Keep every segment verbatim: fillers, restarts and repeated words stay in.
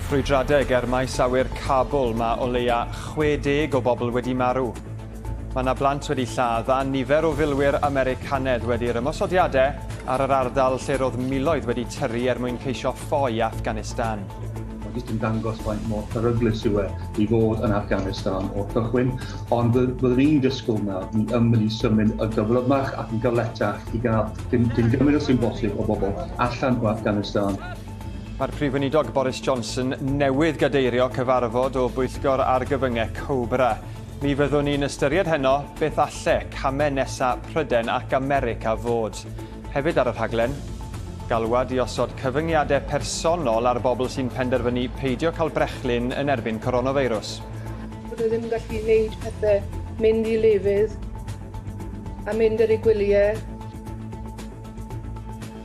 Ffrwydradau ger maes awyr Kabul, mae o leia chwe deg o bobl wedi marw. Mae yna blant wedi lladd a nifer o filwyr Americanedd wedi'r ymosodiadau ar yr ardal lle roedd miloedd wedi tyrru er mwyn ceisio ffoi Afghanistan. Mae jyst yn dangos faint mor peryglus yw e i fod yn Afghanistan o'r cychwyn, ond byddwn ni'n disgwyl nawr, ni yn mynd i symud y gyflymach ac yn galetach i gael dim, dim gymaint sy'n bosib o bobl allan o Afghanistan. Mae'r Prif Weinidog Boris Johnson newydd gadeirio cyfarfod o bwyllgor argyfyngau Cobra. Mi fyddwn ni'n ystyried heno beth alle camau nesaf Prydain ac America fod. Hefyd ar y rhaglen, galwad i osod cyfyngiadau personol ar bobl sy'n penderfynu peidio cael brechlyn yn erbyn coronafeirws. Bod nhw ddim yn gallu gwneud pethau, mynd i lefydd a mynd ar eu gwyliau.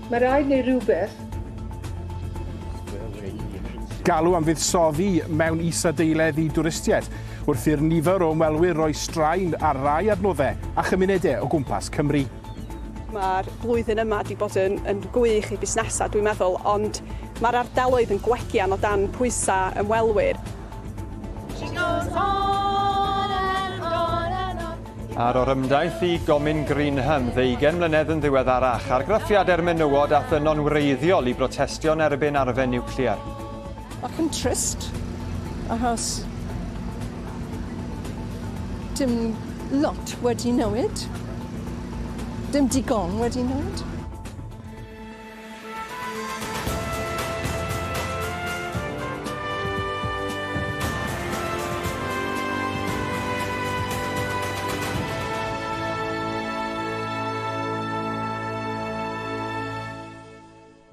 Mae rhaid wneud rhywbeth. Galw am fuddsoddi mewn isadeiledd i dwristiaid, wrth i'r nifer o ymwelwyr roi straen ar rai adnoddau a chymunedau o gwmpas Cymru. Mae'r blwyddyn yma wedi bod yn, yn gwych i busnesau, dwi'n meddwl, ond mae'r ardaloedd yn gwegian o dan pwysau ymwelwyr. Ar orymdaith i Gomin Greenham, ddeugain mlynedd yn ddiweddarach, argraffiadau'r menywod a thynon wreiddiol i brotestio'n erbyn arfe niwclear. Ac yn trist, achos dim lot wedi newid, dim digon wedi newid.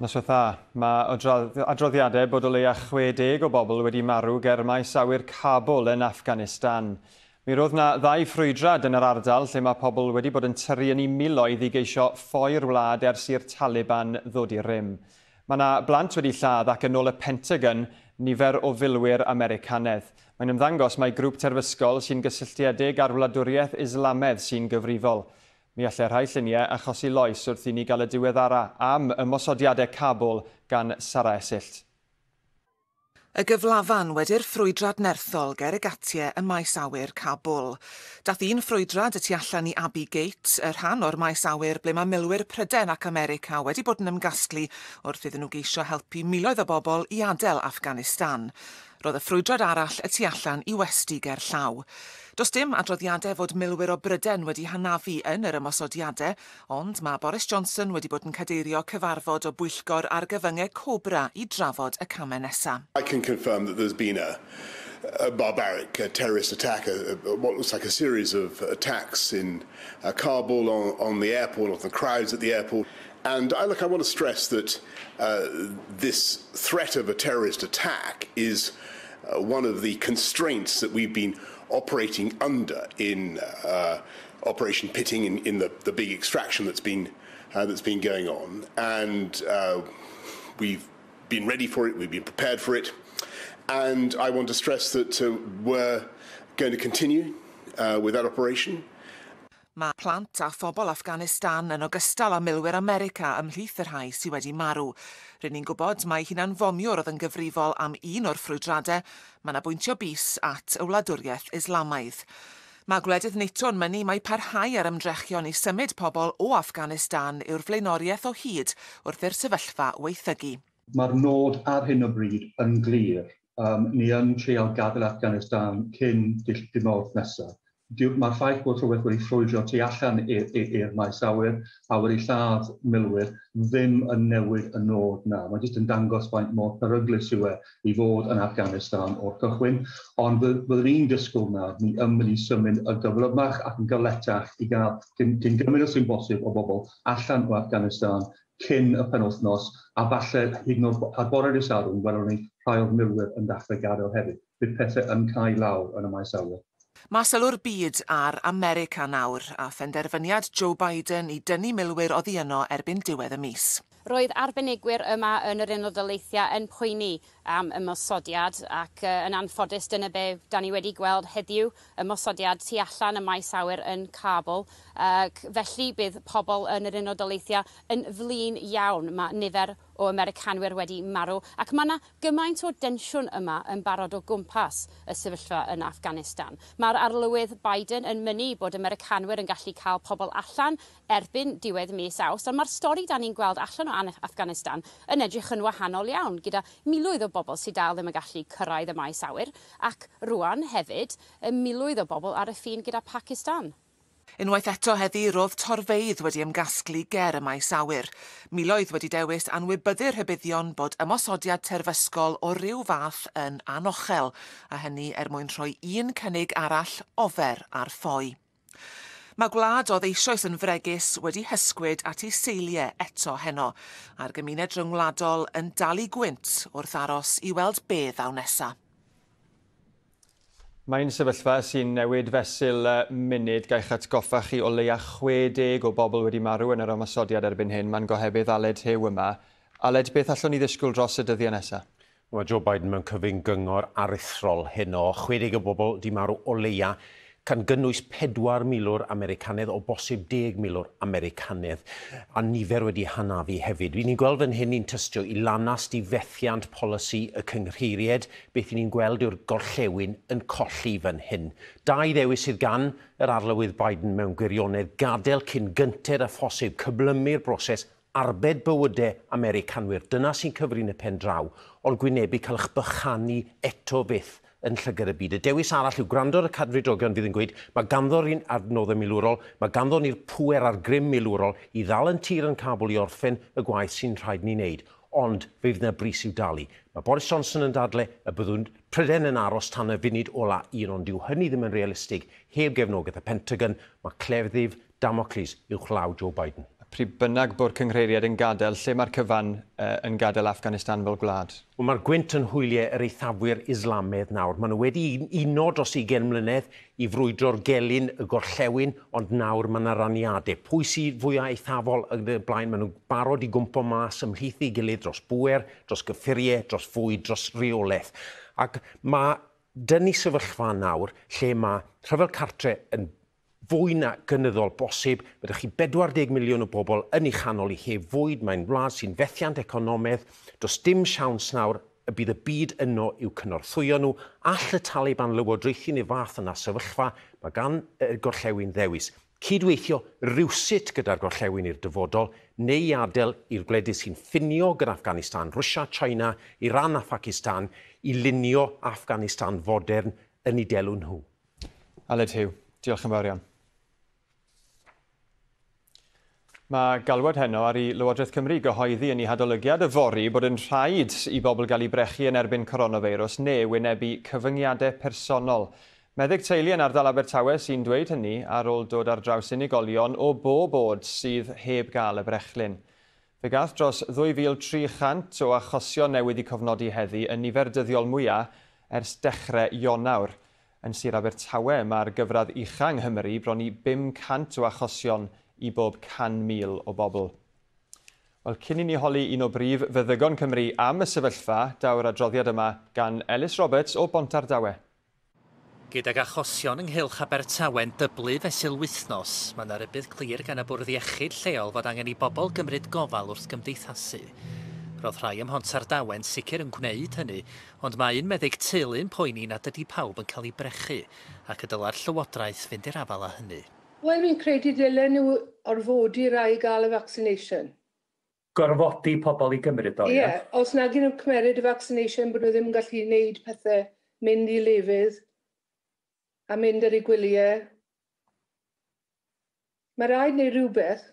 Noswaith dda, mae adroddiadau bod o leia chwe deg o bobl wedi marw ger maes awyr Kabul yn Afghanistan. Mi roedd na ddau ffrwydrad yn yr ardal lle mae pobl wedi bod yn tyrru yn eu miloedd i geisio ffoi'r wlad ers i'r Taliban ddod i rym. Mae yna blant wedi lladd ac yn ôl y Pentagon nifer o filwyr Americanedd. Mae'n ymddangos mae grŵp terfysgol sy'n gysylltiedig â'r wladwriaeth Islamaidd sy'n gyfrifol. Mi allai rhai lluniau achosi loes wrth i ni gael y diweddara am ymosodiadau Kabul gan Sara Esyllt. Y gyflafan wedi'r ffrwydrad nerthol ger y gatiau ym maes awyr Kabul. Dath un ffrwydrad y tu allan i Abbey Gate, y rhan o'r maes awyr ble mae milwyr Prydain ac America wedi bod yn ymgasglu wrth iddyn nhw geisio helpu miloedd o bobl i adael Afghanistan. Roedd y ffrwydrad arall y tu allan i westy ger llaw. Does dim adroddiadau fod milwyr o Brydain wedi hanafu yn yr ymosodiadau, ond mae Boris Johnson wedi bod yn cadeirio cyfarfod o bwyllgor argyfyngau Cobra i drafod y camau nesaf. I can confirm that there's been a, a barbaric a terrorist attack, a, a, what looks like a series of attacks in uh, Kabul, on, on the airport, on the crowds at the airport. And I, look, I want to stress that uh, this threat of a terrorist attack is uh, one of the constraints that we've been operating under in uh, Operation Pitting, in, in the, the big extraction that's been, uh, that's been going on. And uh, we've been ready for it, we've been prepared for it. And I want to stress that uh, we're going to continue uh, with that operation. Mae plant a phobl Afghanistan yn ogystal â milwyr America ymhlith y rhai sydd wedi marw. Rydyn ni'n gwybod mai hunanfomiwr oedd yn gyfrifol am un o'r ffrwydradau. Mae yna bwyntio bys at y wladwriaeth Islamaidd. Mae gwledydd NATO yn mynnu mai parhau ar ymdrechion i symud pobl o Afghanistan yw'r flaenoriaeth o hyd wrth i'r sefyllfa weithygu. Mae'r nod ar hyn o bryd yn glir. Um, ni yn treial gadael Afghanistan cyn dydd Mawrth nesaf. Mae'r ffaith bod rhywbeth wedi ffrwydro tu allan i'r maes awyr a wedi lladd milwyr ddim yn newid y nod na. Mae jyst yn dangos faint mor peryglus yw e i fod yn Afghanistan o'r cychwyn, ond byddwn ni'n disgwyl nawr, ni yn mynd i symud y gyflymach ac yn galetach i gael dim, dim gymaint sy'n bosib o bobl allan o Afghanistan cyn y penwythnos, a falle hyd yn oed ar bore dydd Sadwrn welwn ni rhai o'r milwyr yn dechrau gadael hefyd. Bydd pethau yn cau lawr yn y maes awyr. Mae sylw'r byd ar America nawr a phenderfyniad Joe Biden i dynnu milwyr oddi yno erbyn diwedd y mis. Roedd arbenigwyr yma yn yr Unol Daleithiau yn poeni am ymosodiad ac uh, yn anffodus dyna be da ni wedi gweld heddiw, ymosodiad tu allan y maes awyr yn Kabul. Ac felly bydd pobl yn yr Unol Daleithiau yn flin iawn. Mae nifer o Americanwyr wedi marw ac mae yna gymaint o densiwn yma yn barod o gwmpas y sefyllfa yn Afghanistan. Mae'r arlywydd Biden yn mynnu bod Americanwyr yn gallu cael pobl allan erbyn diwedd mis Awst, ond mae'r stori da ni'n gweld allan o Afghanistan yn edrych yn wahanol iawn, gyda miloedd o bobl sydd dal ddim yn gallu cyrraedd y maes awyr, ac rwan hefyd miloedd o bobl ar y ffin gyda Pakistan. Unwaith eto heddi, roedd torfeydd wedi ymgasglu ger y maes awyr. Miloedd wedi dewis anwybyddu'r rhybuddion bod ymosodiad terfysgol o ryw fath yn anochel, a hynny er mwyn rhoi un cynnig arall ofer ar ffoi. Mae gwlad oedd eisoes yn fregus wedi hysgwyd at ei seiliau eto heno, a'r gymuned ryngwladol yn dal i gwynt wrth aros i weld be ddaw nesa. Mae'n sefyllfa sy'n newid fesul munud. Gaich atgoffa chi o leia chwe deg o bobl wedi marw yn yr ymosodiad erbyn hyn. Mae'n gohebydd Aled Hugh yma. Aled, beth allwn ni ddisgwyl dros y dyddiau nesaf? Mae Joe Biden mewn cyfyng gyngor aruthrol heno. chwe deg o bobl wedi marw o leia, gan gynnwys pedwar milwr Americanedd, o bosib deg milwr Americanedd, a nifer wedi hanafu hefyd. Ni'n gweld fan hyn ni'n tystio i lanast i fethiant polisi y cynghreiried. Beth ni'n gweld yw'r gorllewin yn colli fan hyn. Dau ddewis sydd gan yr arlywydd Biden mewn gwirionedd: gadael cyn gynted â phosib, cyflymu'r broses, arbed bywydau Americanwyr. Dyna sy'n cyfri'n y pen draw, ond gwynebu cael eich bychanu eto fyth yn llygad y byd. Y dewis arall yw gwrando ar y cadfridogion fydd yn gweud mae ganddo'r un adnoddau milwrol, mae ganddo ni'r pŵer a'r grym milwrol i ddal yn tir yn Kabul i orffen y gwaith sy'n rhaid ni wneud. Ond fe fydd yna bris i'w dalu. Mae Boris Johnson yn dadle y byddwn Prydain yn aros tan y funud ola un, ond dyw hynny ddim yn realistig heb gefnogaeth y Pentagon. Mae cleddyf Damocles uwchlaw Joe Biden. Pryd bynnag bod cynghreiriad yn gadael, lle mae'r cyfan uh, yn gadael Afghanistan fel gwlad? Wel, mae'r gwynt yn hwyliau yr eithafwyr Islamaidd nawr. Maen nhw wedi uno dros ugain mlynedd i frwydro'r gelyn y gorllewin, ond nawr mae yna raniadau. Pwy sydd fwyaf eithafol yn y blaen? Maen nhw'n barod i gwmpo mas ymhlith ei gilydd dros bŵer, dros gyffuriau, dros fwyd, dros reolaeth. Ac mae dyn ni sefyllfa nawr lle mae rhyfel cartre yn fwy na gynyddol bosib. Mae ydych chi pedwar deg miliwn o bobl yn ei chanol i heb fwyd. Mae'n wlad sy'n fethiant economaidd. Does dim siawns nawr y bydd y byd yno i'w cynorthwyo nhw. All y Taliban lywodraethu neu fath yna sefyllfa, mae gan y gorllewin ddewis. Cydweithio rywsut gyda'r gorllewin i'r dyfodol, neu i adael i'r gwledydd sy'n ffinio gyda Afghanistan, Rwsia, China, Iran a Pakistan, i lunio Afghanistan fodern yn ei delw nhw. Aled Hugh, diolch yn fawr iawn. Mae galwad heno ar i Lywodraeth Cymru gyhoeddi yn ei hadolygiad yfory bod yn rhaid i bobl gael eu brechu yn erbyn coronavirus neu wynebu cyfyngiadau personol. Meddyg teulu yn ardal Abertawe sy'n dweud hynny ar ôl dod ar draws unigolion o bob oed sydd heb gael y brechlyn. Fe gath dros ddwy fil tri chant o achosion newydd i cofnodi heddi yn nifer dyddiol mwyaf ers dechrau Ionawr. Yn Sir Abertawe mae'r gyfradd ucha yng Nghymru bron i bum cant o achosion i bob can mil o bobl. Wel, cyn i ni holi un o brif feddygon Cymru am y sefyllfa, daw'r adroddiad yma gan Ellis Roberts o Bontardawe. Gydag achosion ynghylch Abertawe'n dyblu fesul wythnos, mae yna rybudd clir gan y bwrdd iechyd lleol fod angen i bobl gymryd gofal wrth gymdeithasu. Roedd rhai ym Mhontardawe'n sicr yn gwneud hynny, ond mae un meddyg teulu'n poeni nad ydy pawb yn cael ei brechu, ac y dyla'r Llywodraeth fynd i'r afael â hynny. Wel, fi'n credu dylen nhw orfodi rai gael y vaccination. Gorfodi pobl i gymryd o, ie? Ie, os nag ydyn nhw'n cymeryd y vaccination, bod nhw ddim yn gallu gwneud pethau, mynd i lefydd a mynd ar eu gwyliau. Mae rhaid wneud rhywbeth.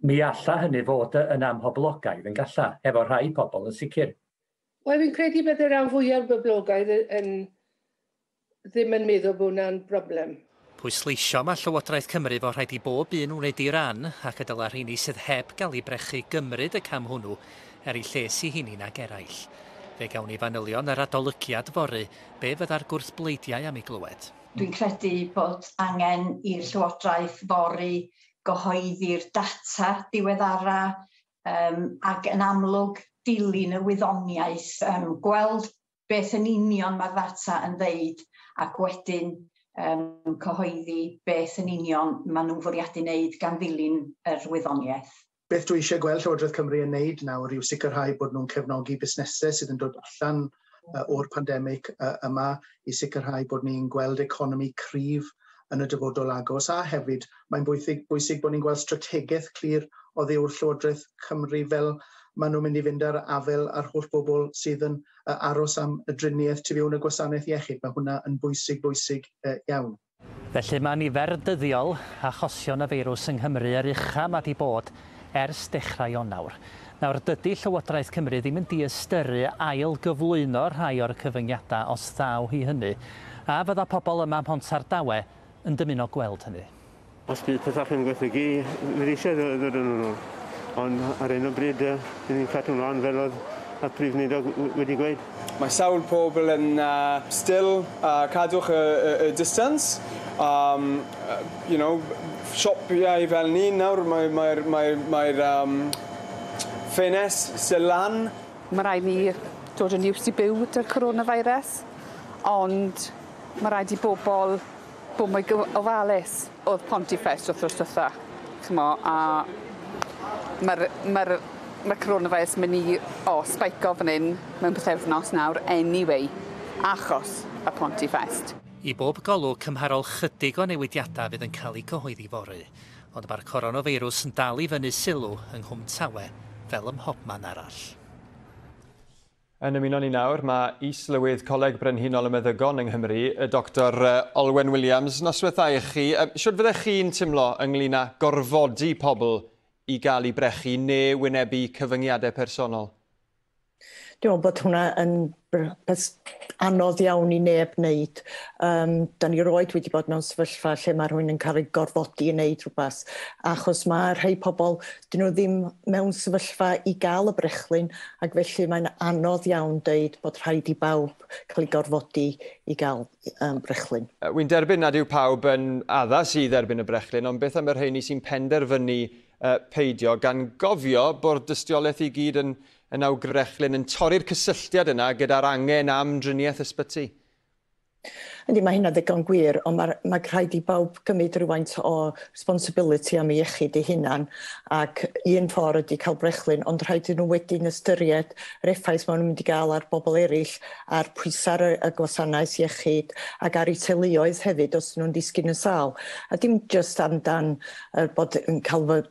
Mi alla hynny fod yn amhoblogaidd yn galla, efo rhai pobl yn sicr. Wel, fi'n credu bydd y rhan fwyaf boblogaidd yn ddim yn meddwl bod hwnna'n broblem. Pwysleisio mae Llywodraeth Cymru fod rhaid i bob un wneud ei ran ac y dyla'r rheini sydd heb gael eu brechu gymryd y cam hwnnw er eu lles i hunain ag eraill. Fe gawn ni fanylion yr adolygiad fory, be fydda'r gwrthbleidiau am ei glywed. Dwi'n credu bod angen i'r Llywodraeth fory gyhoeddi'r data diweddara um, ac yn amlwg dilyn y wyddoniaeth, um, gweld beth yn union mae'r ddata yn ddeud ac wedyn um, cyhoeddi beth yn union maen nhw'n fwriadu wneud gan ddilyn yr wyddoniaeth. Beth dwi eisiau gweld Llywodraeth Cymru yn wneud nawr yw sicrhau bod nhw'n cefnogi busnesau sydd yn dod allan uh, o'r pandemig uh, yma i sicrhau bod ni'n gweld economi cryf yn y dyfodol agos, a hefyd mae'n bwysig, bwysig bod ni'n gweld strategaeth clir oddi wrth Llywodraeth Cymru fel maen nhw'n mynd i fynd ar afel ar holl bobl sydd yn uh, aros am y driniaeth tu fewn y gwasanaeth iechyd. Mae hwnna yn bwysig, bwysig uh, iawn. Felly mae nifer dyddiol achosion y feirws yng Nghymru yr ucha mae 'di bod ers dechrau Ionawr. Nawr, dydy Llywodraeth Cymru ddim yn diystyru ail gyflwyno rhai o'r cyfyngiadau os ddaw hi hynny, a fydda pobl yma ym Mhontardawe yn dymuno gweld hynny. Os bydd pethau yn gwaethygu, fydd eisiau ddod yn ôl. Ond ar hyn o bryd, dyn ni'n cadw ymlaen fel oedd y Prif Weinidog wedi gweud. Mae sawl pobl yn uh, still uh, cadwch y, y, y distance. Um, uh, you know, siopiau fel ni nawr, mae'r mae, mae, mae, um, ffenest still lan. Mae rhaid ni dod yn used i byw gyda'r coronavirus, ond mae rhaid i bobl bod mwy ofalus. Oedd Pontifest wythnos dwytha, ch'mo, a mae'r mae mae coronavirus mynd i o, spike-o fan hyn mewn pythefnos nawr anyway, achos y Pontifest. I bob golwg, cymharol chydig o newidiadau fydd yn cael eu cyhoeddi fory, ond mae'r coronafeirws yn dal i fyny sylw yng Nghwm Tawe fel ym mhobman arall. Yn ymuno ni nawr, mae Is-lywydd Coleg Brenhinol y Meddygon yng Nghymru, y Doctor Olwen Williams. Noswaith dda i chi. Shwt fyddech chi'n teimlo ynglyn â gorfodi pobl i gael eu brechu neu wynebu cyfyngiadau personol? Dwi'n meddwl bod hwnna yn beth anodd iawn i neb wneud. Um, da ni roed wedi bod mewn sefyllfa lle mae rhywun yn cael ei gorfodi i wneud rhywbeth, achos mae rhai pobl, dyn nhw ddim mewn sefyllfa i gael y brechlyn, ac felly mae'n anodd iawn deud bod rhaid i bawb cael ei gorfodi i gael um, brechlyn. Wy'n derbyn nad yw pawb yn addas i dderbyn y brechlyn, ond beth am y rheini sy'n penderfynu uh, peidio, gan gofio bod dystiolaeth i gyd yn yn awgrymu yn torri'r cysylltiad yna gyda'r angen am driniaeth ysbyty? Yndi, mae hynna ddigon gwir, ond mae, mae rhaid i bawb gymryd rhywfaint o responsibility am ei iechyd ei hunan, ac un ffordd ydy cael brechlyn, ond rhaid i nhw wedyn ystyried yr effaith maen nhw'n mynd i gael ar bobl eraill, ar pwysau y gwasanaeth iechyd ac ar eu teuluoedd hefyd os nhw'n disgyn yn sâl. A dim jyst amdan bod yn cael fy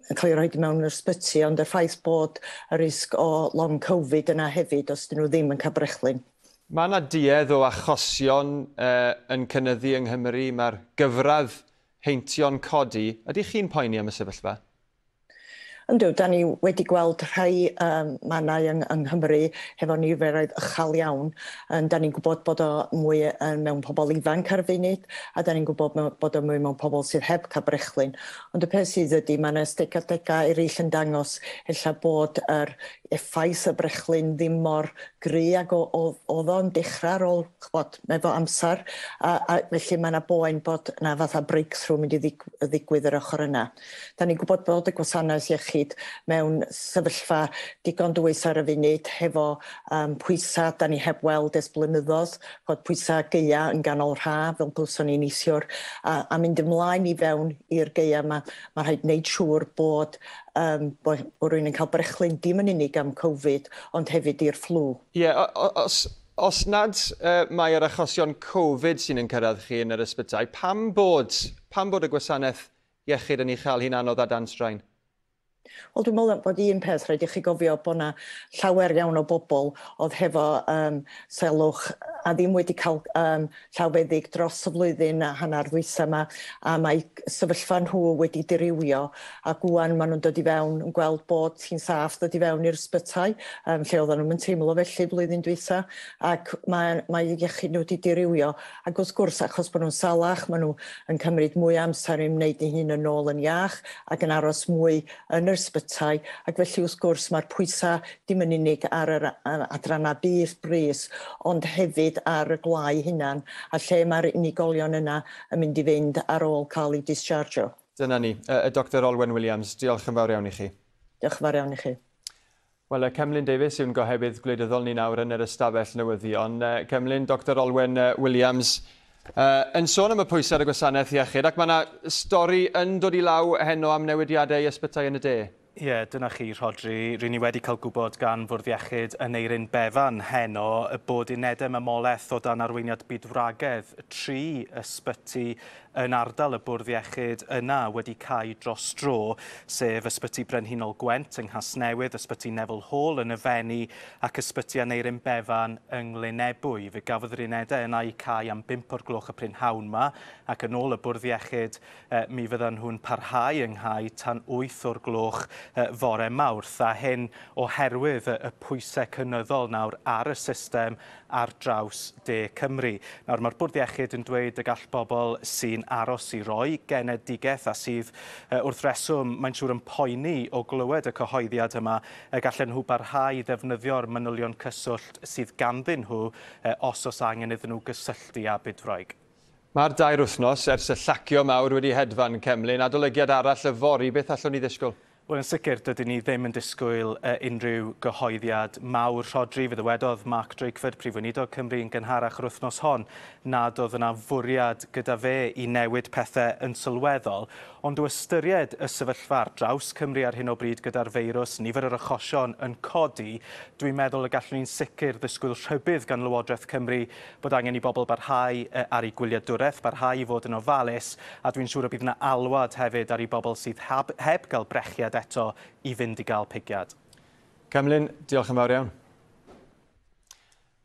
yn cael ei rhoi mewn yr ysbyty, ond y ffaith bod y risg o long Covid yna hefyd os dyn nhw ddim yn cael brechlyn. Mae yna duedd o achosion uh, yn cynyddu yng Nghymru, mae'r gyfradd heintio'n codi. Ydych chi'n poeni am y sefyllfa? Yndw, da ni wedi gweld rhai um, mannau yng, yng Nghymru hefo niferoedd uchel iawn. Um, da ni'n gwybod bod o mwy um, mewn pobl ifanc ar y funud, a da ni'n gwybod bod o mwy mewn pobl sydd heb cael brechlyn. Ond y peth sydd ydy, mae yna ystadegau eraill yn dangos ella bod yr effaith y brechlyn ddim mor gry ag oedd o'n dechrau ar ôl, ch'bod, efo amser, a, a felly mae yna boen bod yna fatha breakthrough mynd i ddigwydd yr ochr yna. Da ni'n gwybod bod y gwasanaeth iechyd mewn sefyllfa digon dwys ar y funud hefo um, pwysau da ni heb weld ers blynyddoedd, bod pwysau gaea yn ganol ha fel glywson ni neithiwr, a, a mynd ymlaen i fewn i'r gaea yma, mae rhaid wneud siŵr bod, um, bod, bod rhywun yn cael brechlyn dim yn unig am Covid, ond hefyd i'r fflw. Ie, yeah, os, os nad uh, mae'r achosion Covid sy'n yn cyrraedd chi yn yr ysbytai, pam bod, pam bod y gwasanaeth iechyd yn ei chael hi'n anodd a dan straen? Wel, dwi'n meddwl bod un peth rhaid i chi gofio bod yna llawer iawn o bobl oedd hefo um, selwch a ddim wedi cael um, llawfeddyg dros y flwyddyn a hanner ddwytha yma, a mae sefyllfa nhw wedi dirywio, ac ŵan maen nhw'n dod i fewn yn gweld bod hi'n saff dod i fewn i'r ysbytai, um, lle oedden nhw'n teimlo felly blwyddyn dwytha, ac mae, mae iechyd nhw wedi dirywio, ac wrth gwrs achos bod nhw'n salach, maen nhw yn cymryd mwy amser i wneud eu hun yn ôl yn iach ac yn aros mwy yn yr ysbytai, ac felly wrth gwrs mae'r pwysau dim yn unig ar yr adrannau bys brys, ond hefyd ar y gwlau hunan, a lle mae'r unigolion yna yn mynd i fynd ar ôl cael eu dischargio. Dyna ni, y Doctor Olwen Williams, diolch yn fawr iawn i chi. Diolch. Diolch yn fawr iawn i chi. Wel, Cemlyn Davies yw'n gohebydd gwleidyddol ni nawr yn yr ystafell newyddion. Cemlyn, Doctor Olwen Williams, uh, yn sôn am y pwysau ar y gwasanaeth iechyd, ac mae yna stori yn dod i law heno am newidiadau i ysbytai yn y de. Ie, yeah, dyna chi, Rhodri. Ry'n ni wedi cael gwybod gan Fwrdd Iechyd Aneurin Bevan heno y bod unedau mamolaeth o dan arweiniad bydwragedd tri ysbyty yn ardal y Bwrdd Iechyd yna wedi cau dros dro, sef Ysbyty Brenhinol Gwent yng Nghasnewydd, Ysbyty Neville Hall yn y Fenni ac Ysbyty Aneurin Bevan yng Nglynebwy. Fe gafodd yr unedau yna eu cau am bump o'r gloch y prynhawn ma, ac yn ôl y Bwrdd Iechyd mi fyddan nhw'n parhau ynghau tan wyth o'r gloch fore Mawrth, a hyn oherwydd y pwysau cynyddol nawr ar y system ar draws De Cymru. Nawr mae'r Bwrdd Iechyd yn dweud y gall bobl sy'n aros i roi genedigaeth a sydd wrth reswm mae'n siŵr yn poeni o glywed y cyhoeddiad yma, gallen nhw barhau i ddefnyddio'r manylion cyswllt sydd ganddyn nhw os oes angen iddyn nhw gysylltu â bydwraig. Mae'r dair wythnos ers y llacio mawr wedi hedfan, Cemlyn. Adolygiad arall yfory, beth allwn ni ddisgwyl? Wel, yn sicr, dydyn ni ddim yn disgwyl uh, unrhyw gyhoeddiad mawr. Rhodri, fe ddywedodd Mark Drakeford, Prif Weinidog Cymru, yn gynharach yr wythnos hon, nad oedd yna fwriad gyda fe i newid pethau yn sylweddol. Ond o ystyried y sefyllfa ar draws Cymru ar hyn o bryd gyda'r feirws, nifer yr achosion yn codi, dwi'n meddwl y gallwn ni'n sicr ddisgwyl rhybudd gan Lywodraeth Cymru bod angen i bobl barhau ar eu gwyliadwraeth, barhau i fod yn ofalus, a dwi'n siŵr y bydd yna alwad hefyd ar i bobl sydd heb, heb gael brechiad eto i fynd i gael pigiad. Cemlyn, diolch yn fawr iawn.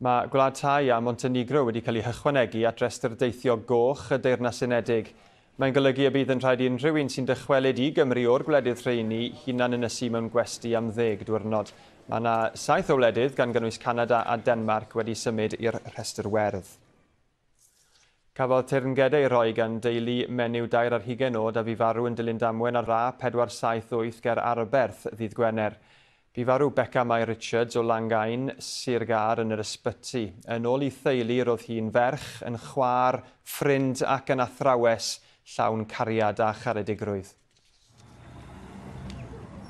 Mae Gwlad Thai a Montenegro wedi cael eu hychwanegu at restr deithio goch y Deyrnas Unedig. Mae'n golygu y bydd yn rhaid i unrhyw un sy'n dychwelyd i Gymru o'r gwledydd rheini hunan ynysu mewn gwesty am ddeg diwrnod. Mae yna saith o wledydd, gan gynnwys Canada a Denmark, wedi symud i'r rhestr werdd. Cafodd teyrngedau ei roi gan deulu menyw dair ar hugain oed a fu farw yn dilyn damwain ar A pedwar saith wyth ger Arberth ddydd Gwener. Bu farw Beca Mai Richards o Langain, Sir Gâr, yn yr ysbyty. Yn ôl ei theulu, roedd hi'n ferch, yn chwaer, ffrind ac yn athrawes llawn cariad a charedigrwydd.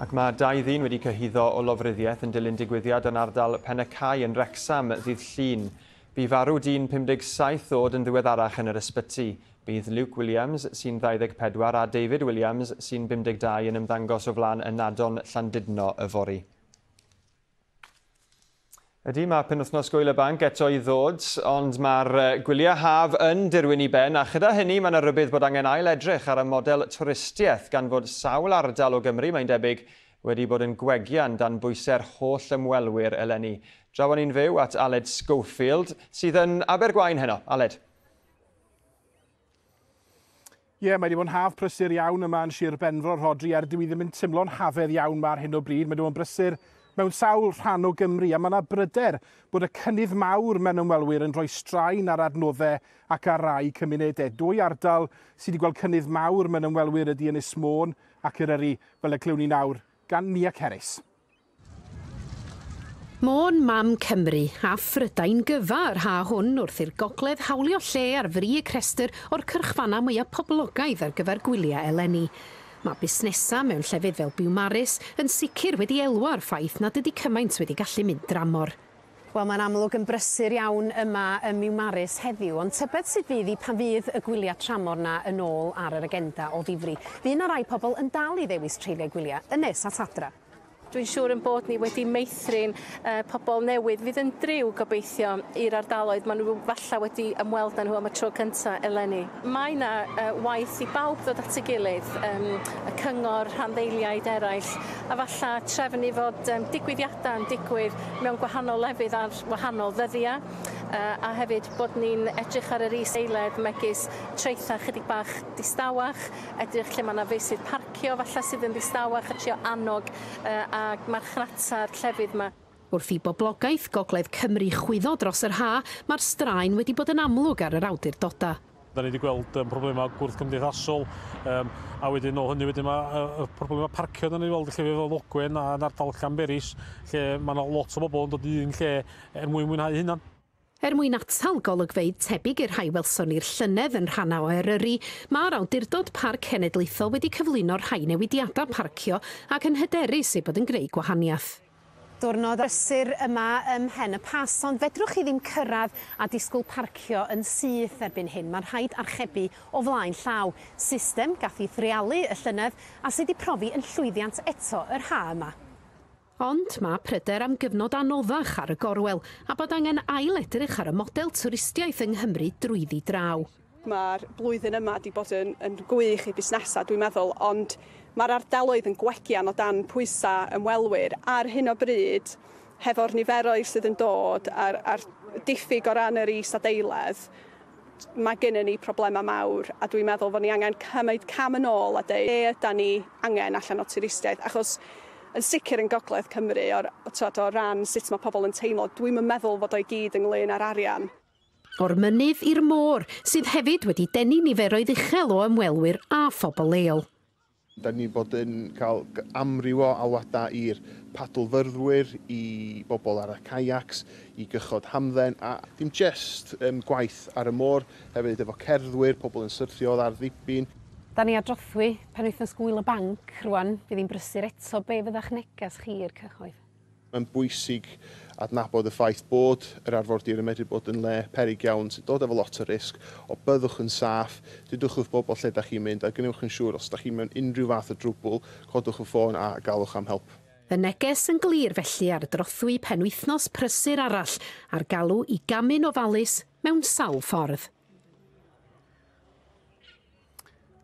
Ac mae dau ddyn wedi cyhuddo o lofruddiaeth yn dilyn digwyddiad yn ardal Pen y Cae yn Wrecsam ddydd Llun. Bu farw dyn pum deg saith oed yn ddiweddarach yn yr ysbyty. Bydd Luke Williams, sy'n ddau ddeg pedwar, a David Williams, sy'n bum deg dau, yn ymddangos o flaen ynadon Llandudno yfory. Ydy, mae penwythnos Gŵyl y Banc eto i ddod, ond mae'r gwyliau haf yn dirwyn i ben, a chyda hynny mae yna rybudd bod angen ail edrych ar y model twristiaeth gan fod sawl ardal o Gymru, mae'n debyg, wedi bod yn gwegian dan bwysau'r holl ymwelwyr eleni. Draw ni'n fyw at Aled Schofield, sydd yn Abergwaun heno. Aled. Ie, yeah, mae wedi bod yn haf prysur iawn yma yn Sir Benfro, Rhodri, er dwi ddim yn teimlo'n hafedd iawn ma ar hyn o bryd. Mae wedi bod yn brysur mewn sawl rhan o Gymru, a mae yna bryder bod y cynnydd mawr mewn ymwelwyr yn rhoi straen ar adnoddau ac ar rai cymunedau. Dwy ardal sydd wedi gweld cynnydd mawr mewn ymwelwyr ydy Ynys Môn ac Eryri, fel y clywn ni nawr gan Nia Ceris. Môn, mam Cymru a Phrydain gyfa yr ha hwn wrth i'r gogledd hawlio lle ar frig y rhestr o'r cyrchfannau mwyaf poblogaidd ar gyfer gwyliau eleni. Mae busnesau mewn llefydd fel Biwmaris yn sicr wedi elwa o'r ffaith nad ydy cymaint wedi gallu mynd dramor. Wel, mae'n amlwg yn brysur iawn yma ym Miwmaris heddiw, ond tybed sut fydd hi pan fydd y gwyliau tramor na yn ôl ar yr agenda o ddifri. Fydd yna rai pobl yn dal i ddewis treulio gwyliau yn nes at adra. Dwi'n siŵr yn bod ni wedi meithrin uh, pobl newydd fydd yn driw gobeithio i'r ardaloedd maen nhw falle wedi ymweld â nhw am y tro cyntaf eleni. Mae yna uh, waith i bawb ddod at ei gilydd, um, y cyngor, rhanddeiliaid eraill, a falle trefnu fod um, digwyddiadau yn digwydd mewn gwahanol lefydd ar wahanol ddyddiau, uh, a hefyd bod ni'n edrych ar yr is-eiledd megis traethau chydig bach distawach, edrych lle mae yna feysydd parcio falle sydd yn ddistawach a trio annog uh, a marchnata'r llefydd yma. Wrth i boblogaeth Gogledd Cymru chwyddo dros yr ha, mae'r straen wedi bod yn amlwg ar yr awdurdodau. Da ni wedi gweld um, problemau gwrth-gymdeithasol, um, a wedyn o hynny wedyn mae uh, problemau parcio da ni weld llefydd fel Ogwen a yn ardal Llanberis, lle mae yna lot o bobl yn dod i un lle er mwyn mwynhau hunan. Er mwyn atal golygfeydd tebyg i'r rhai welson ni'r llynedd yn rhannau o Eryri, mae'r Awdurdod Parc Cenedlaethol wedi cyflwyno rhai newidiadau parcio ac yn hyderus ei bod yn gwneud gwahaniaeth. Diwrnod brysur yma ym Mhen y Pass, ond fedrwch chi ddim cyrraedd a disgwyl parcio yn syth erbyn hyn. Mae'n rhaid archebu o flaen llaw. System gath ei threialu y llynedd a sydd wedi profi yn llwyddiant eto yr ha yma. Ond mae pryder am gyfnod anoddach ar y gorwel a bod angen ail edrych ar y model twristiaeth yng Nghymru drwyddi draw. Mae'r blwyddyn yma wedi bod yn, yn gwych i busnesau, dwi'n meddwl, ond mae'r ardaloedd yn gwegian o dan pwysau ymwelwyr ar hyn o bryd, hefo'r niferoedd sydd yn dod a'r, a'r diffyg o ran yr isadeiledd, mae gennym ni problemau mawr a dwi'n meddwl fod ni angen cymryd cam yn ôl a dweud be ydan ni angen allan o twristiaeth, achos yn sicr yn Gogledd Cymru o'r, o, o ran sut mae pobl yn teimlo, dwi'm yn meddwl fod o'i gyd ynglyn â'r arian. O'r mynydd i'r môr, sydd hefyd wedi denu niferoedd uchel o ymwelwyr a phobl leol. Da ni bod yn cael amryw o alwadau i'r padlfyrddwyr, i bobl ar y kayacs, i gychod hamdden, a dim just um, gwaith ar y môr, hefyd efo cerddwyr, pobl yn syrthio ar ddibyn. Da ni ar drothwy penwythnos gŵyl y banc rwan, fydd hi'n brysur eto. Be fydda'ch neges chi i'r cyhoedd? Mae'n bwysig adnabod y ffaith bod yr arfordir yn medru bod yn le peryg iawn sy'n dod efo lot o risg, o byddwch yn saff, dudwch wrth bobl lle da chi'n mynd a gwnewch yn siŵr os da chi mewn unrhyw fath o drwbl, codwch y ffôn a galwch am help. Y neges yn glir felly ar drothwy penwythnos prysur arall a'r galw i gamu'n ofalus mewn sawl ffordd.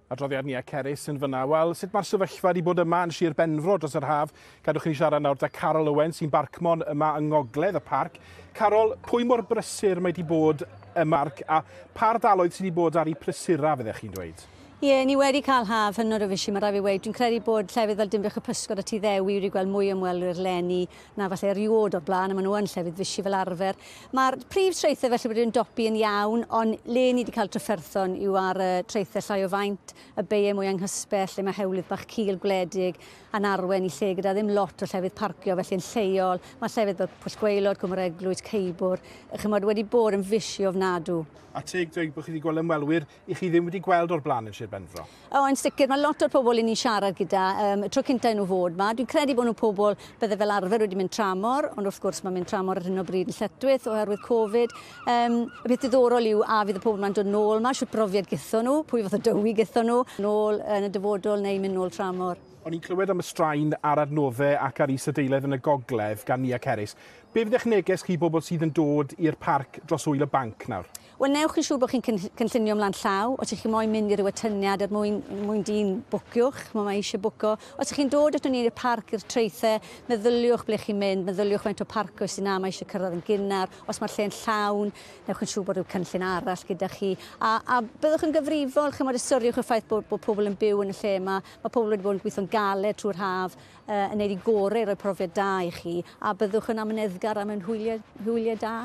Adroddiad ni a Cerys yn fyna. Wel, sut mae'r sefyllfa wedi bod yma yn Sir Benfro dros yr haf? Gadwch chi siarad nawr da Carol Owen sy'n barcmon yma yng ngogledd y parc. Carol, pwy mor brysur mae wedi bod y marc a pa ardaloedd sydd wedi bod ar ei prysura, fyddech chi'n dweud? Ie, yeah, ni wedi cael haf hynod o fysi, mae rhaid fi weud. Dwi'n credu bod llefydd fel Dinbych y Pysgod a Tŷ Ddewi wedi gweld mwy ymwelwyr leni na falle erioed o'r blaen, a maen nhw yn llefydd fysi fel arfer. Mae'r prif traethau felly wedi ymdopi yn iawn, ond le ni wedi cael trafferthon yw ar y traethau llai o faint, y beiau mwy anghysbell, lle mae hewlydd bach cul gwledig a'n arwen i lle gyda ddim lot o llefydd parcio, felly yn lleol. Mae llefydd fel Pwll Gwaelod, Cwm yr Eglwys, Ceibwr, chymod, wedi bod yn fysi ofnadw. A teg dweud bod chi wedi gweld ymwelwyr i chi ddim wedi gweld o'r blaen yn Sir Benfro? O, yn sicr, mae lot o'r pobl i ni siarad gyda, um, y tro cynta i nhw fod ma. Dwi'n credu bod nhw'n pobl bydde fel arfer wedi mynd tramor, ond wrth gwrs mae'n mynd tramor ar hyn o bryd yn lletchwith oherwydd Covid. Um, y peth diddorol yw a fydd y pobl ma'n dod nôl ma, shwt brofiad gytho nhw, pwy fath o dywi gytho nhw, nôl yn y dyfodol neu mynd nôl tramor. O'n i'n clywed am y straen ar adnoddau ac ar isadeiledd yn y gogledd gan Nia Ceris. Be fydd eich neges chi bobl sydd yn dod i'r parc dros ŵyl y banc nawr? Wel, newch yn siŵr bod chi'n cynllunio ymlaen llaw. Os ych chi moyn mynd i ryw atyniad er mwyn, mwyn dyn bwciwch, mae mae eisiau bwco. Os ych chi'n dod ato ni i'r parc, i'r traethau, meddyliwch ble chi'n mynd, meddyliwch faint o parcio sy'n na, mae eisiau cyrraedd yn gynnar. Os mae'r lle'n llawn, newch yn siŵr bod rhyw cynllun arall gyda chi. A, a byddwch yn gyfrifol, chymod, ystyriwch y ffaith bod, bod pobl yn byw yn y lle yma. Mae pobl wedi bod yn gweithio'n galed trwy'r haf, uh, yn neud i gorau i roi profiad da i chi, a byddwch yn amyneddgar am yn hwyliau, hwyliau da.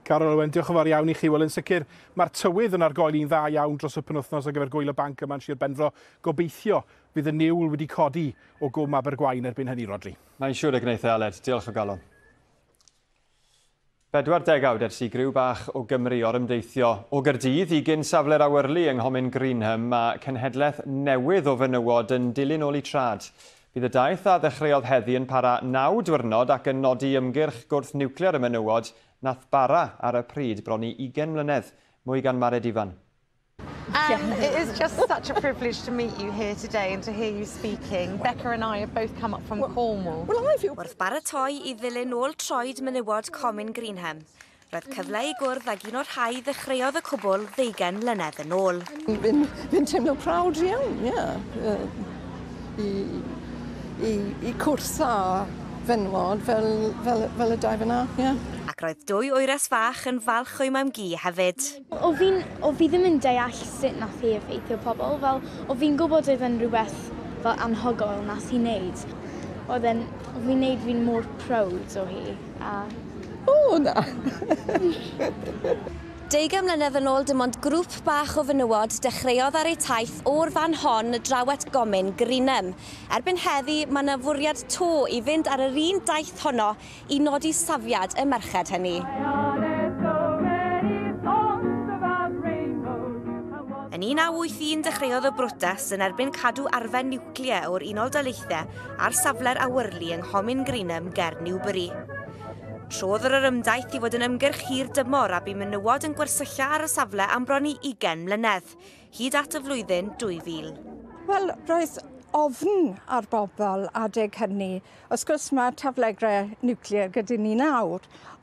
Carol Owen, diolch yn fawr iawn i chi. Wel, yn sicr, mae'r tywydd yn argoeli'n dda iawn dros y penwythnos ar gyfer gŵyl y banc yma yn Sir Benfro. Gobeithio fydd y niwl wedi codi o Gwm Abergwaun erbyn hynny, Rodri. Mae'n siŵr y gwneith e, Aled. Diolch o galon. Bedwar degawd ers i griw bach o Gymru orymdeithio o Gaerdydd i gyn safle'r awyrlu yng Nghomin Greenham, mae cenhedlaeth newydd o fenywod yn dilyn ôl eu trad. Bydd y daith a ddechreuodd heddi yn para naw diwrnod ac yn nodi ymgyrch gwrth niwclear y menywod nath bara ar y pryd bron i ugain mlynedd. Mwy gan Mared Ifan. Um, it is just such a privilege to meet you here today and to hear you speaking. Becca and I have both come up from Cornwall. Well, I feel... Wrth baratoi i ddilyn ôl troed menywod Comin Greenham, roedd cyfle i gwrdd ag un o'r rhai ddechreuodd y cwbl ddeugain mlynedd yn ôl. Fi'n fi teimlo proud iawn, ie. Yeah. I, i, i cwrdd â fenwod fel, fel, fel y dau fyna, ie. Yeah. Ac roedd dwy wyres fach yn falch o'i mam-gu hefyd. O fi'n, o fi ddim yn deall sut nath hi effeithio pobl, fel o fi'n gwybod oedd yn rhywbeth fel anhygoel nath hi wneud. Oedd e'n, o fi'n neud fi'n mor proud o hi. A... O, na! Deugain mlynedd yn ôl, dim ond grŵp bach o fenywod dechreuodd ar eu taith o'r fan hon draw at Gomin Greenham. Erbyn heddi, mae yna fwriad to i fynd ar yr un daith honno i nodi safiad y merched hynny. Yn un naw wyth un dechreuodd y brotest yn erbyn cadw arfer niwclear o'r Unol Daleithiau ar safle'r awyrlu yng Nghomin Greenham ger Newbury. Trodd yr ymdaith i fod yn ymgyrch hir dymor a bu menywod yn gwersylla ar y safle am bron i ugain mlynedd, hyd at y flwyddyn dwy fil. Wel, roedd ofn ar bobl adeg hynny. Wrth gwrs mae taflegrau niwclear gyda ni nawr,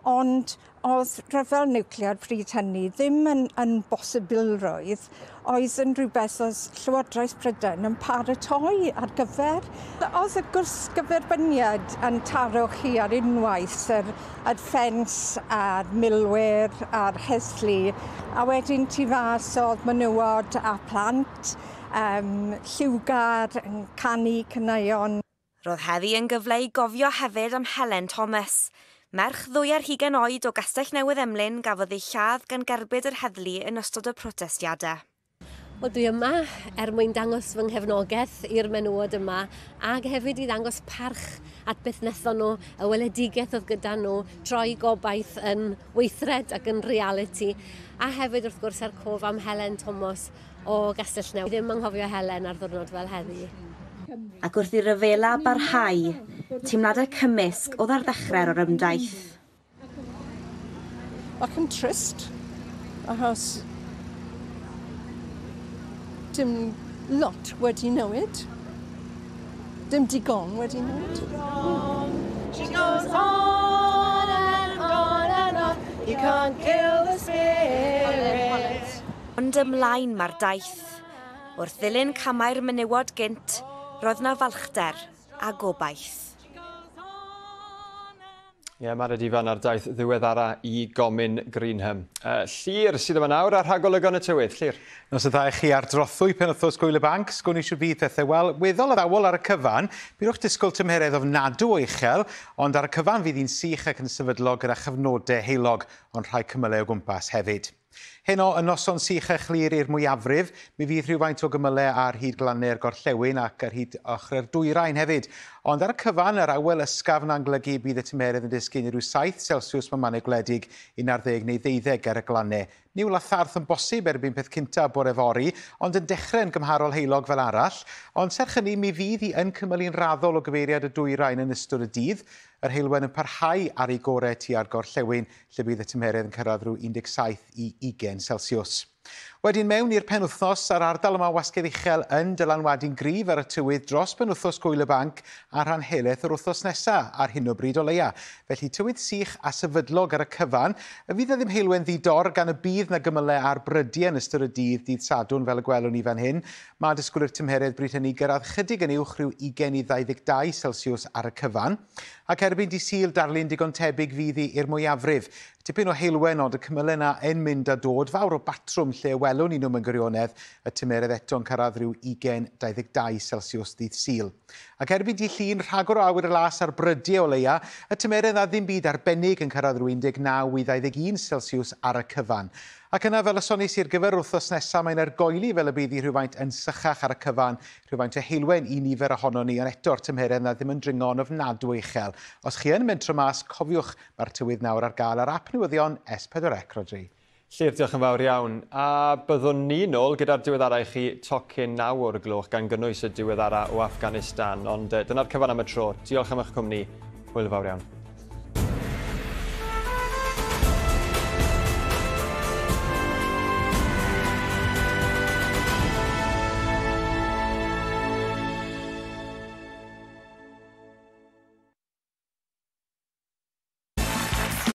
ond oedd rhyfel niwclear pryd hynny ddim yn, yn bosibilrwydd, oedd yn rhywbeth oedd Llywodraeth Prydain yn paratoi ar gyfer. Oedd y gwrthgyferbyniad yn taro chi ar unwaith, yr, yr ffens a'r milwyr a'r heddlu, a wedyn tu fas oedd menywod a plant, um, lliwgar, yn canu caneuon. Roedd heddi yn gyfle i gofio hefyd am Helen Thomas. Merch ddwy ar hugain oed o Gastell Newydd Emlyn gafodd ei lladd gan gerbyd yr heddlu yn ystod y protestiadau. Wel, dwi yma er mwyn dangos fy nghefnogaeth i'r menywod yma ac hefyd i ddangos parch at beth wnaethon nhw, y weledigaeth oedd gyda nhw, troi gobaith yn weithred ac yn realiti, a hefyd wrth gwrs er cof am Helen Thomas o Gastell Newydd. Ddim anghofio Helen ar ddwrnod fel heddi. Ac wrth i ryfela barhau, teimladau cymysg oedd ar ddechrau'r orymdaith. Ac yn trist, achos dim lot wedi newid. Dim digon wedi newid. She goes on and on and on. You can't kill the spirit. Ond ymlaen mae'r daith. Wrth ddilyn camau'r menywod gynt, roedd na falchder a gobaith. Ie, yeah, Mared Ifan ar daith ddiweddara i Gomin Greenham. Uh, Llyr sydd yma nawr ar rhagolygon y tywydd. Llyr. Nos y ddau chi ar drothwy penwythnos Gŵyl y Banc. Sgwn i siwr bydd pethau. Wel, weddol addawol ar y cyfan. Byddwch disgwyl tymheredd ofnadw o uchel, ond ar y cyfan fydd hi'n sych ac yn sefydlog gyda chyfnodau heulog, ond rhai cymylau o gwmpas hefyd. Heno, y noson sych a chlir i'r mwyafrif, mi fydd rhywfaint o gymylau ar hyd glannau'r gorllewin ac ar hyd ochrau'r dwyrain hefyd. Ond ar y cyfan, yr awel ysgafn a'n golygu bydd y tymheredd yn disgyn i ryw saith Celsius mewn mannau gwledig, un ar ddeg neu ddeuddeg ar y glannau. Niwl a tharth yn bosib erbyn peth cynta bore fory, ond yn dechrau yn gymharol heulog fel arall. Ond serch hynny, mi fydd hi yn cymylu'n raddol o gyfeiriad y dwyrain yn ystod y dydd. Yr heulwen yn parhau ar ei gorau tua'r gorllewin, lle bydd y tymheredd yn cyrraedd rhyw un deg saith i ugain Celsius. Wedyn mewn i'r penwythnos, a'r ardal yma wasgedd uchel yn dylanwadu'n gryf ar y tywydd dros penwythnos Gŵyl y Banc a rhan helaeth yr wythnos nesaf ar hyn o bryd o leia. Felly tywydd sych a sefydlog ar y cyfan. Y fydd e ddim heulwen ddi-dor gan y bydd na gymylau ar brydiau yn ystod y dydd, dydd Sadwrn fel y gwelwn ni fan hyn. Mae disgwyl i'r tymheredd bryd hynny gyrraedd chydig yn uwch rhyw ugain i ddau ddeg dau Celsius ar y cyfan. Ac erbyn dydd Sul darlun digon tebyg fydd hi i'r mwyafrif. Tipyn o heulwen ond y cymylau yna yn mynd a dod, fawr o batrwm lle welwn ni nhw mewn gwirionedd, y tymheredd eto'n cyrraedd rhyw ugain dau ddeg dau Celsius dydd Sul. Ac erbyn dydd Llun, rhagor o awyr las ar brydiau o leia, y tymheredd a ddim byd arbennig yn cyrraedd rhyw un deg naw i ddau ddeg un Celsius ar y cyfan. Ac yna, fel y sonis i'r gyfer wythnos nesaf, mae'n argoeli fel y bydd hi rhywfaint yn sychach ar y cyfan, rhywfaint o heulwen i nifer ohonon ni, ond eto'r tymheredd na ddim yn dringo'n ofnadwy uchel. Os chi yn mentro mas, cofiwch, mae'r tywydd nawr ar gael ar ap newyddion S pedwar C, Rhodri. Llyr, diolch yn fawr iawn. A byddwn ni nôl gyda'r diweddara i chi tocyn naw o'r gloch gan gynnwys y diweddara o Afghanistan. Ond dyna'r cyfan am y tro. Diolch am eich cwmni. Hwyl fawr iawn.